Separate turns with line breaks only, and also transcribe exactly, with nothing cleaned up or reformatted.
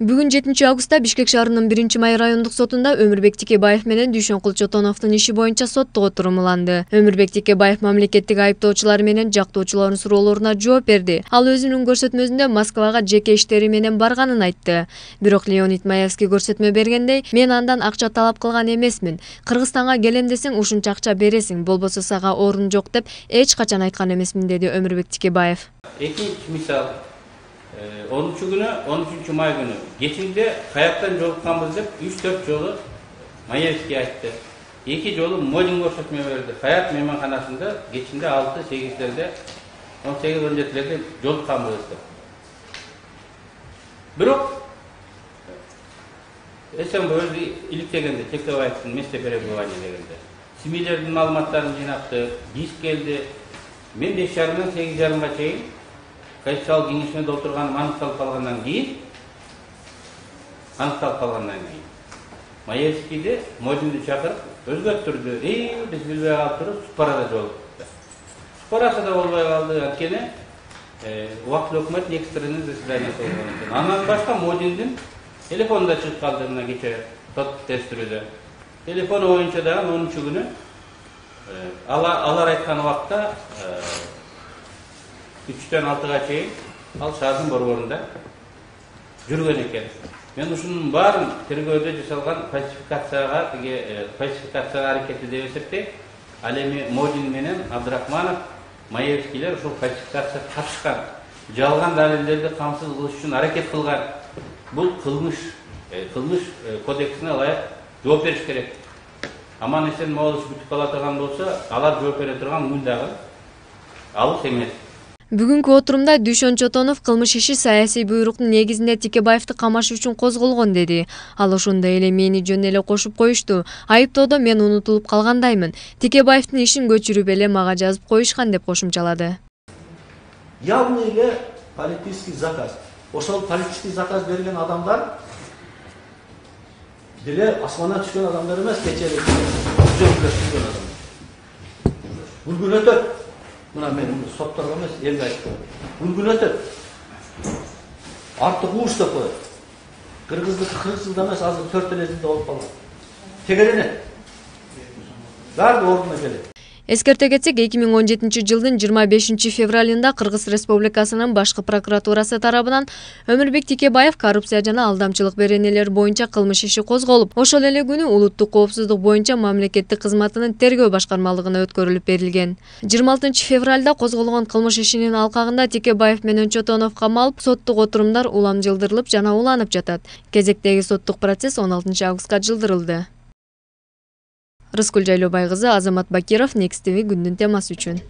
Бүгүн жетинчи августта Бишкек шаарынын биринчи май райондук сотунда Өмүрбек Тикебаев менен Дүйшөнкул Чотоновдун иши боюнча соттук отурум уланды. Өмүрбек Тикебаев мамлекеттик айыптоочулар менен жактоочулардын суроолоруна жооп берди. Ал өзүнүн көрсөтмөсүндө Москвага жеке иштери менен барганын айтты. Бирок Леонид Маевский көрсөтмө бергендей, мен андан акча талап кылган эмесмин. Кыргызстанга келем десең ушунча акча бересиң, болбосо сага орун жок деп эч качан айткан эмесмин, деди Өмүрбек Тикебаев.
Экинчи мисал, онунчу күнү, он үчүнчү май күнү кечинде каяктан жолукканбыз деп үч төрт жолу Маевский айтты. Эки жолу Модин көрсөтмө берди. Хаят мейманканасында кечинде алты сегиздерде, он сегиз он жетилерде жолукканбыз деп. Бирок эсен өзү иликтегенде Текебаевдин месте перебывания дегенде семьялардын маалыматтарын жыйнаптык, диск келди. Мен беш жарымдан сегиз жарымга чейин Конституциялык кеңешине отурганым аныкталып калгандан кийин, аныкталып калгандан кийин Маевскийди Модинди чакырып өзгөрттүрдү. Эй, биз билбей калыптырбыз, Супарада жолукту. Супарасы да болбой калды, анткени убактылуу өкмөт экстренный заседание болгон экен. Андан башка Модиндин телефону да чыгып калды мына кече сот тештирүүдө. Телефону боюнча дагы онунчу күнү алар айткан убакта үчтөн алтыга чейин ал шаардын борборунда жүргөн экен. Мен ушунун баарын тергөөдө жасалган фальсификацияга, тиги фальсификацияга аракети деп эсептейм. Ал эми Модин менен Абдрахманов, Маевскийлер ушул фальсификацияга катышкан, жалган далилдерди камсыз кылыш үчүн аракет кылган. Бул кылмыш, кылмыш кодексине ылайык жооп бериш керек. Аман эсен могул иш бүтүп кала турган болсо, алар жооп бере турган күн дагы алыс эмес.
Бүгүнкү отурумда Дүйшөн Чотонов кылмыш иши саясий буйруктун негизинде Тикебаевди камаш үчүн козголгон деди. Ал ошондой эле мени жөн эле кошуп коюшту. Айыптоодо мен унутулуп калгандаймын. Тикебаевдин ишин көчүрүп эле мага жазып коюшкан деп кошумчалады.
Явный эле политический заказ. Ошол политический заказ берген адамдар деле асмандан түшкөн адамдар эмес, кечеэле жөнөкөлөшкөн адамдар. Бул күн өтөт. Мына мен сотторго эмес, элге айттым. Бул күн өтөт. Артты кууш деп коет. Кыргыздыкы кырк жылда эмес, азыр төрт эле жылда болуп калган. Тегеленет. Баары ордуна келет.
Эскерте кетсек, эки миң он жетинчи жылдын жыйырма бешинчи февралында Кыргыз Республикасынын башкы прокуратурасы тарабынан Өмүрбек Тикебаев коррупция жана алдамчылык беренелери боюнча кылмыш иши козголуп, ошол эле күнү улуттук коопсуздук боюнча мамлекеттик кызматынын тергөө башкармалыгына өткөрүлүп берилген. жыйырма алтынчы февралда козголгон кылмыш ишинин алкагында Тикебаев менен Чотонов камалып, соттук отурумдар улам жылдырылып жана уланып жатат. Кезектеги соттук процесс он алтынчы августка жылдырылды. Рыскүл Жайлообай кызы, Азамат Бакиров, Next ти ви күндүн темасы үчүн.